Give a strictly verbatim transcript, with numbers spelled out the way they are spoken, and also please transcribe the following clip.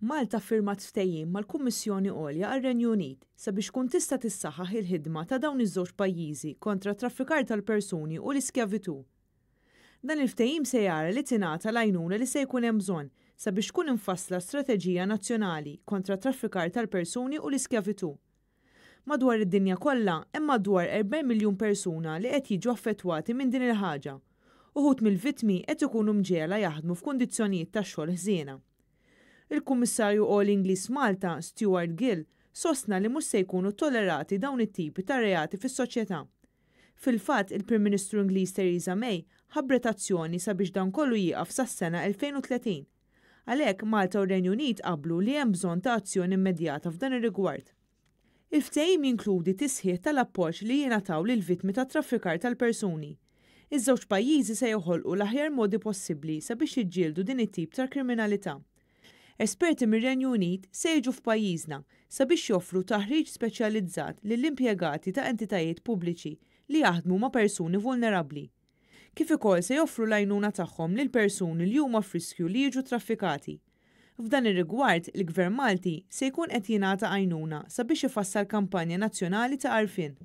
Malta ffirmat ftehim mal-Kummissjoni Għolja għar-Renju Unit sabiex tkun tista' tissaħħaħ il-ħidma ta' dawn iż-żewġ pajjiżi kontra t-traffikar tal-persuni u l-iskjavitù. Dan il-ftehim se jara li tingħata l-għajnuna li se jkun hemm bżonn sabiex tkun imfassla strateġija nazzjonali kontra t-traffikar tal-persuni u l-iskjavitù. Madwar id-dinja kollha hemm madwar erbgħin miljun persuna li qed jiġu affettwati minn din il-ħaġa. Uħud mill-vittmi qed ikunu mġegħla jaħdmu f'kundizzjonijiet ta' xogħol ħżiena. Il-Kummissarju Għoli Ingliż f'Malta, Stuart Gill, sostna li mhux se jkunu tollerati dawn it-tipi ta' reati fis-soċjetà. Fil-fatt, il-Prim Ministru Ingliż Theresa May ħabbret azzjoni sabiex dan kollu jieqaf sas-sena elfejn u tletin. Għalhekk, Malta u r-Renju Unit qablu li hemm bżonn ta' azzjoni immedjata f'dan ir-rigward. Il-ftehim jinkludi tisħiħ tal-appoġġ li jingħataw lill-vittmi tat-traffikar tal-persuni. Iż-żewġ pajjiżi se joħolqu l-aħjar modi possibbli sabiex jiġġieldu din it-tip ta' kriminalità. Esperti mir-Renju Unit se jiġu f'pajjiżna sabiex joffru taħriġ speċjalizzat lill-impjegati ta' entitajiet pubbliċi li jaħdmu ma' persuni vulnerabbli. Kif ukoll se joffru l-għajnuna tagħhom lil persuni li huma f'riskju li jiġu traffikati. F'dan ir-rigward, il-Gvern Malti se jkun qed jingħata għajnuna sabiex ifassal kampanja nazzjonali ta' għarfien.